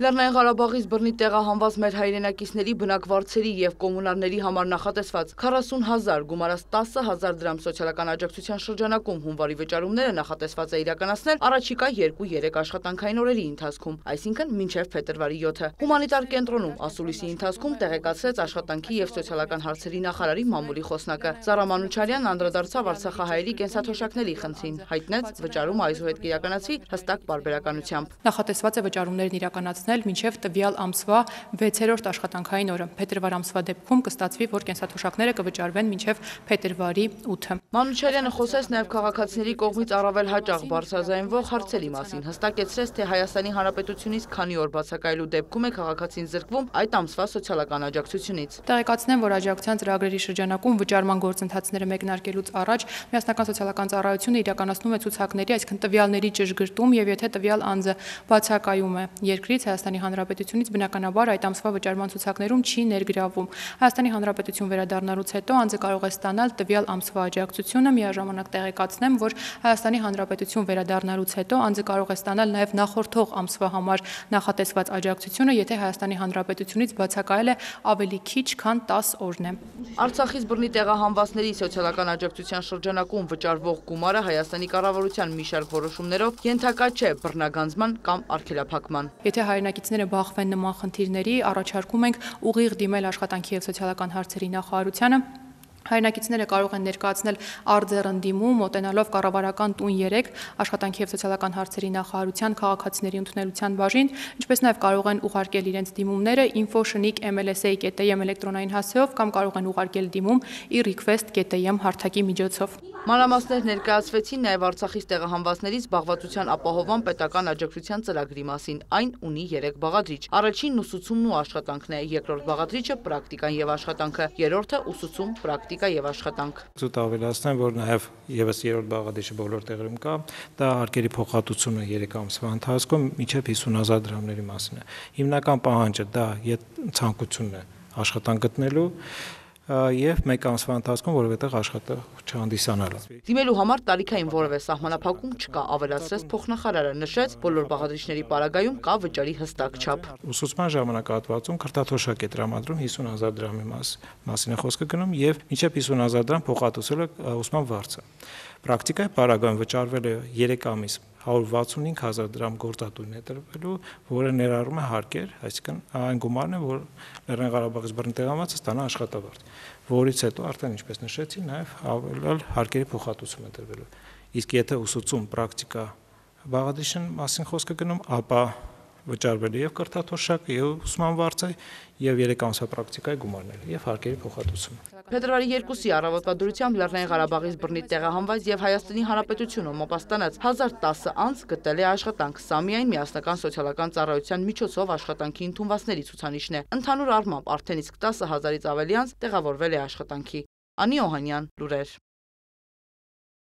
Լեռնային Ղարաբաղից բռնի տեղահանված մեր հայրենակիցների բնակվարձերի եւ կոմունալների համար նախատեսված 40,000 գումարած 10,000 դրամ սոցիալական աջակցության շրջանակում հունվարի վճարումները նախատեսված է իրականացնել առաջիկա 2-3 աշխատանքային օրերի ընթացքում, այսինքն մինչև փետրվարի 7-ը։ Հումանիտար կենտրոնում ասուլիսի ընթացքում տեղեկացրեց աշխատանքի եւ սոցիալական հարցերի նախարարի մամուլի խոսնակը։ Զարա Մանուչարյանն անդրադարձավ արցախահայերի կենսաթոշակների խնդրին, հայտնեց վճարումը այսուհետ կիրականացվի հստակ պարբերականությամբ։ Նախատեսված է վճարումներն իրականացնել մինչև տվյալ ամսվա 6-րդ աշխատանքային օրը։ Փետրվար ամսվա դեպքում կստացվի, որ կենսաթոշակները կվճարվեն մինչև փետրվարի 8-ը։ Մանուչարյանը խոսեց նաև քաղաքացիների կողմից առավել հաճախ բարձրաձայնվող հարցերի մասին, հստակեցրեց, թե Հայաստանի Հանրապետությունից քանի օր բացակայելու դեպքում է քաղաքացին զրկվում այդ ամսվա սոցիալական աջակցությունից։ Տեղեկացնեմ, որ աջակցության ծրագրերի շրջանակում վճարման գործընթացները մեկնարկելուց առաջ Միասնական սոցիալական ծառայությունը իրականացնում է ցուցակների, այսինքն տվյալների ճշգրտում եւ եթե տվյալ անձը բացակայում է երկրից Հայաստանի Հանրապետությունից բնականաբար այդ ամսվա վճարման ցուցակներում չի ներգրավում։ Հայաստանի Հանրապետություն վերադառնալուց հետո անձը կարող է ստանալ տվյալ ամսվա աջակցությունը, միաժամանակ տեղեկացնեմ, որ Հայաստանի Հանրապետություն վերադառնալուց հետո անձը կարող է ստանալ նաև նախորդող ամսվա համար նախատեսված աջակցությունը, եթե Հայաստանի Հանրապետությունից բացակայել է ավելի քիչ, քան 10 օրն է։ Արցախից բռնի տեղահանվածների սոցիալական աջակցության շրջանակում վճարվող գումարը Հայաստանի կառավարության մի շարք որոշումներով ենթակա չէ բռնագանձման կամ արգելափակման։ Եթե հայրենակիցները բախվեն նման խնդիրների, առաջարկում ենք ուղիղ դիմել աշխատանքի եւ սոցիալական հարցերի նախարարությանը։ Հայրենակիցները կարող են ներկայացնել արձեռնդիմում, մոտենալով կառավարական տուն 3 աշխատանքի եւ սոցիալական հարցերի նախարարության քաղաքացիների ընդունելության բաժին, ինչպես նաեւ կարող են ուղարկել իրենց դիմումները info@mlsa.am էլեկտրոնային հասցեով կամ կարող են ուղարկել դիմում e-request.am հարթակի միջոցով։ Մանրամասներ ներկայացվեցին նաև Արցախից տեղահանվածների զբաղվածության ապահովման պետական աջակցության ծրագրի մասին։ Այն ունի 3 բաղադրիչ։ Առաջինն ուսուցումն ու աշխատանքն է, երկրորդ բաղադրիչը պրակտիկան եւ աշխատանքը, երրորդը ուսուցում, պրակտիկա եւ աշխատանք։ Ցույց ավելացնեմ, որ նաև եւս երրորդ բաղադրիչը բոլոր տեղերում կա, դա հարկերի փոխհատուցումը 3 ամսվա ընթացքում մինչև 50,000 դրամների մասին է։ Հիմնական պահանջը դա ցանկությունն է աշխատանք գտնելու եւ մեկ ամսվա ընթացքում որովհետեւ աշխատող չհանդիսանալը։ Դիմելու համար տարիքային որևէ սահմանափակում չկա, ավելացրեց փոխնախարարը, նշեց, բոլոր բաղադրիչների պարագայում կա վճարի հստակ չափ։ Ուսուցման ժամանակահատվածում քրտաթոշակ է տրամադրում 50,000 դրամի մասին է խոսքը գնում եւ մինչեւ 50,000 դրամ փոխհատուցել է ուսման վարձը։ Պրակտիկայի պարագայում վճարվել է 3 ամիս 165,000 դրամ գործատուին է տրվելու, որը ներառում է հարկեր, այսինքն այն գումարն է, որ Լեռնային Ղարաբաղից բռնի տեղահանվածը ստանա աշխատավարձ, որից հետո արդեն ինչպես նշեցի, նաև ավելալ հարկերի փոխհատուցում է տրվելու։ Իսկ եթե ուսուցում պրակտիկա բաղադրիչն մասին խոսքը գնում, ապա վճարվել է եւ կրթաթոշակ, եւ ուսման վարձը, եւ 3 ամսվա պրակտիկայի գումարներ եւ հարկերի փոխհատուցումը։ Փետրվարի 2-ի առավոտվա դրությամբ Լեռնային Ղարաբաղից բռնի տեղահանված եւ Հայաստանի Հանրապետությունում մոպաստանած 1010 անձ գտել է աշխատանք։ Սա միայն Միասնական սոցիալական ծառայության միջոցով աշխատանքի ընդունվածների ցուցանիշն է։ Ընդհանուր առմամբ արդեն իսկ 10,000-ից ավելի անձ տեղավորվել է աշխատանքի։ Անի Օհանյան, լուրեր։